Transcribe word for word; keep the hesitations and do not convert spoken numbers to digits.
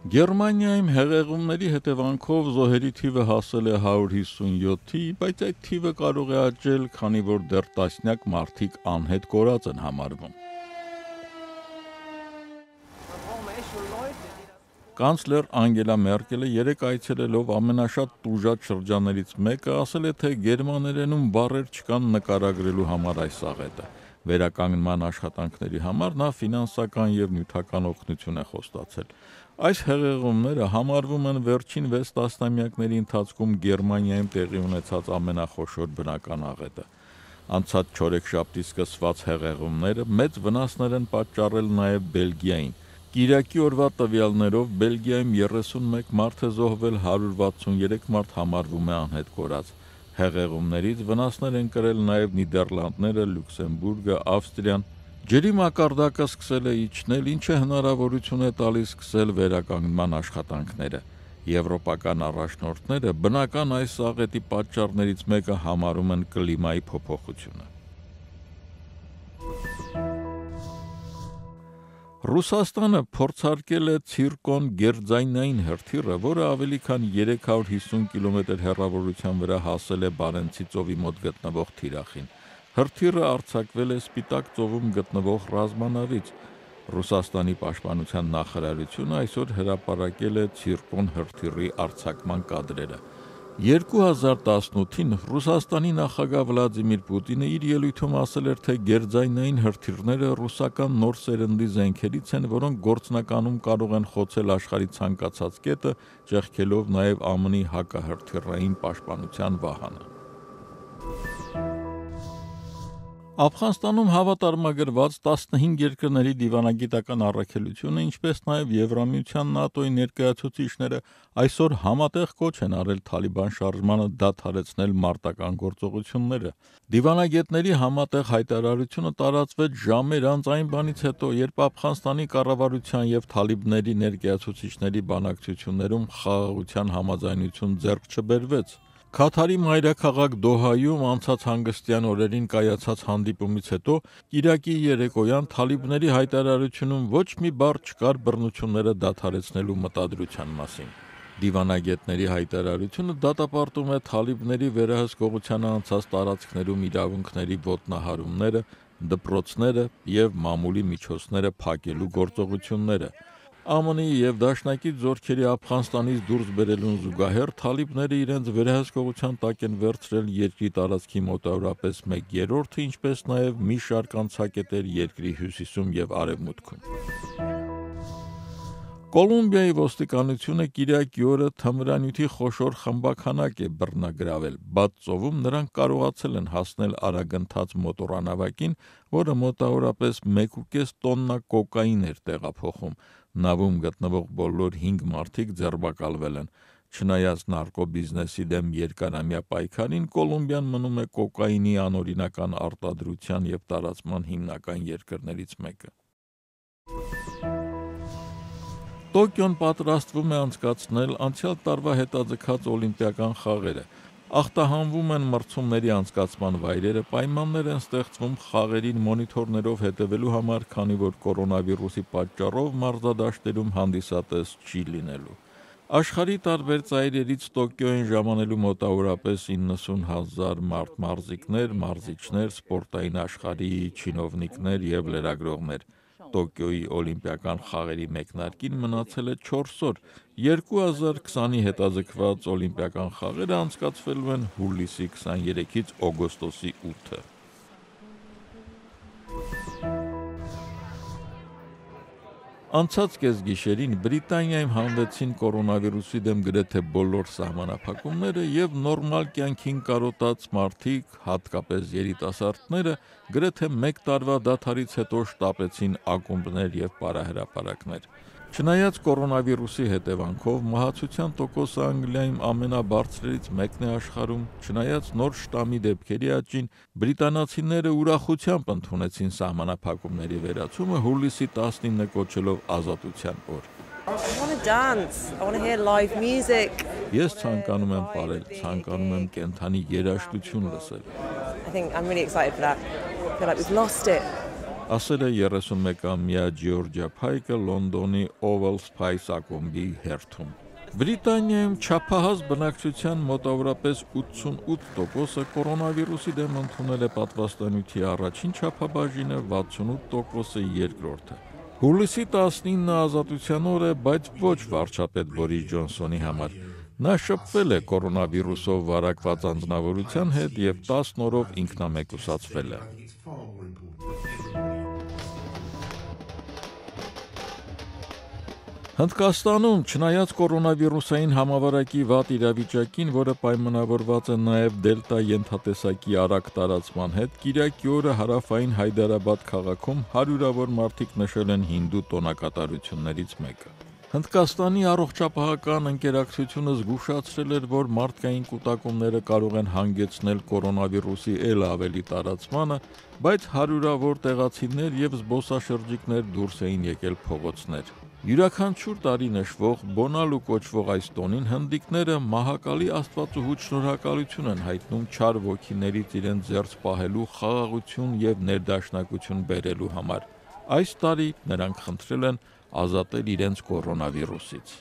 Գերմանիայում հեղեղումների հետևանքով զոհերի թիվը հասել է հարյուր հիսունյոթի, բայց այդ թիվը կարող է աճել, քանի որ դեռ տասնյակ մարդիկ անհետ կորած են համարվում։ Կանցլեր Անգելա Մերկելը երեկ այցելելով ամենաշատ տուժած շրջաններից մեկը ասել է, թե գերմաներենում բառեր չկան նկարագրելու համար այս աղետը։ Վերականգնման աշխատանքների համար նա ֆինանսական և նյութական օգնություն է խոստացել։ Այս հեղեղումները համարվում են վերջին վեց տասնամյակների ընթացքում Գերմանիայում տեղի ունեցած ամենախոշոր բնական աղետը։ Անցած չորեքշաբթի սկսված հեղեղումները մեծ վնասներ են պատճառել նաև Բելգիային։ Կիրակի օրվա տվյալներով Բելգիայում երեսունմեկ մարդ է զոհվել, հարյուր վաթսուներեք մարդ համարվում է անհետ կորած։ Հեղեղումներից վնասներ են կրել նաև Նիդերլանդները, Լյուքսեմբուրգը, Ավստրիան։ Ջրի մակարդակը սկսել է իջնել, ինչը հնարավորություն է տալիս սկսել վերականգնման աշխատանքները։ Եվրոպական առաջնորդները բնական այս աղետի պատճառներից մեկը համարում են կլիմայի փոփոխությունը։ Ռուսաստանը փորձարկել է ցիրկոն գերձայնային հրթիռը, որը ավելի քան երեք հարյուր հիսուն կիլոմետր հեռավորության վրա հասել է Բարենցի ծովի մոտ գտնվող թիրախին։ Հրթիռը արձակվել է Սպիտակ ծովում գտնվող ռազմանավից։ Ռուսաստանի պաշտպանության նախարարությունը այսօր հրապարակել է ցիրկոն հրթիռի արձակման կադրերը։ երկու հազար տասնութին Ռուսաստանի նախագահ Վլադիմիր Պուտինը իր ելույթում ասել էր, թե գերձայնային հրթիռները ռուսական նոր սերնդի զենքերից են, որոնք գործնականում կարող են խոցել աշխարհի ցանկացած կետը, ճեղքելով նաև ԱՄՆ-ի հակահրթիռային պաշտպանության վահանը։ Աֆղանստանում հավատարմագրված տասնհինգ երկրների դիվանագիտական առաքելությունը, ինչպես նաև Եվրամիության ՆԱՏՕ-ի ներկայացուցիչները այսօր համատեղ կոչ են արել Թալիբան շարժմանը դադարեցնել մարտական գործողությունները։ Դիվանագետների համատեղ հայտարարությունը տարածվեց ժամեր անց այն բանից հետո, երբ Աֆղանստանի կառավարության և թալիբների ներկայացուցիչների բանակցություններում խաղաղության համաձայնություն ձեռք չբերվեց։ Քաթարի մայրաքաղաք Դոհայում անցած հանգստյան օրերին կայացած հանդիպումից հետո կիրակի երեկոյան թալիբների հայտարարությունում ոչ մի բառ չկար բռնությունները դադարեցնելու մտադրության մասին։ Դիվանագետների հայտարարությունը դատապարտում է թալիբների վերահսկողությանը անցած տարածքներում իրավունքների ոտնահարումները, դպրոցները և մամուլի միջոցները փակելու գործողությունները։ ԱՄՆ-ի և դաշնակից զորքերի Աֆղանստանից դուրս բերելուն զուգահեռ թալիբները իրենց վերահսկողության տակ են վերցրել երկրի տարածքի մոտավորապես մեկ երրորդը, ինչպես նաև մի շարք անցակետեր երկրի հյուսիսում և արևմուտքում։ Կոլումբիայի ոստիկանությունը կիրակի օրը թմրանյութի խոշոր խմբաքանակ է բռնագրավել։ Բադ ծովում նրանք կարողացել են հասնել արագընթաց մոտորանավակին, որը մոտավորապես մեկ ու կես տոննա կոկաին էր տեղափոխում։ Նավում գտնվող բոլոր հինգ մարդիկ ձերբակալվել են։ Չնայած նարկոբիզնեսի դեմ երկարամյա պայքարին, Կոլումբիան մնում է կոկաինի անօրինական արտադրության և տարածման հիմնական երկրներից մեկը։ Տոկիոն պատրաստվում է անցկացնել անցյալ տարվա հետաձգած օլիմպիական խաղերը։ Ախտահանվում են մրցումների անցկացման վայրերը, պայմաններ են ստեղծվում խաղերին մոնիթորներով հետևելու համար, քանի որ կորոնավիրուսի պատճառով մարզադաշտերում հանդիսատես չի լինելու։ Աշխարհի տարբեր ծայրերից Տոկիո են ժամանելու մոտավորապես իննսուն հազար մարզիկներ, մարզիչներ, սպորտային աշխարհի չինովնիկներ և լրագրողներ։ Տոկիոյի օլիմպիական խաղերի մեկնարկին մնացել է չորս օր։ երկու հազար քսանի հետաձգված օլիմպիական խաղերը անցկացվելու են հուլիսի քսաներեքից օգոստոսի ութը։ Անցած կեսգիշերին Բրիտանիայում հանվեցին կորոնավիրուսի դեմ գրեթե բոլոր սահմանափակումները և նորմալ կյանքին կարոտած մարդիկ, հատկապես երիտասարդները, գրեթե մեկ տարվա դադարից հետո շտապեցին ակումբներ և պարահրապարակներ։ Չնայած կորոնավիրուսի հետևանքով մահացության տոկոսը Անգլիայում ամենաբարձրերից մեկն է աշխարհում, չնայած նոր շտամի դեպքերի աճին, բրիտանացիները ուրախությամբ ընդունեցին սահմանափակումների վերացումը, հուլիսի տասնինը կոչելով ազատության օր։ Ես ցանկանում եմ պարել, ցանկանում եմ կենդանի երաժշտություն լսել։ ասել է երեսունմեկամյա Ջիորջիա Փայկը Լոնդոնի Oval Spice ակումբի հերթում։ Բրիտանիայում չափահաս բնակչության մոտավորապես ութսունութ տոկոսը կորոնավիրուսի դեմ ընդունել է պատվաստանյութի առաջին չափաբաժինը, վաթսունութ տոկոսը երկրորդը։ Հուլիսի տասնինը ազատության օր է, բայց ոչ վարչապետ Բորիս Ջոնսոնի համար։ Նա շփվել է կորոնավիրուսով վարակված անձնավորության հետ եւ տասն օրով ինքնամեկուսացվել է։ Հնդկաստանում, չնայած կորոնավիրուսային համավարակի վատ իրավիճակին, որը պայմանավորված է նաև դելտա ենթատեսակի արագ տարածման հետ, կիրակի օրը հարավային Հայդարաբադ քաղաքում հարյուրավոր մարդիկ նշել են հինդու տոնակատարություններից մեկը։ Հնդկաստանի առողջապահական ընկերակցությունը զգուշացրել էր, որ մարդկային կուտակումները կարող են հանգեցնել կորոնավիրուսի էլ ավելի տարածմանը, բայց հարյուրավոր տեղացիներ եւ զբոսաշրջիկներ դուրս էին եկել փողոցներ։ Յուրաքանչյուր տարի նշվող Բոնալու կոչվող այս տոնին հնդիկները մահակալի Աստվածուհուց շնորհակալություն են հայտնում չար ոգիներից իրենց զերծ պահելու, խաղաղություն եւ ներդաշնակություն բերելու համար։ Այս տարի նրանք խնդրել են ազատել իրենց կորոնավիրուսից։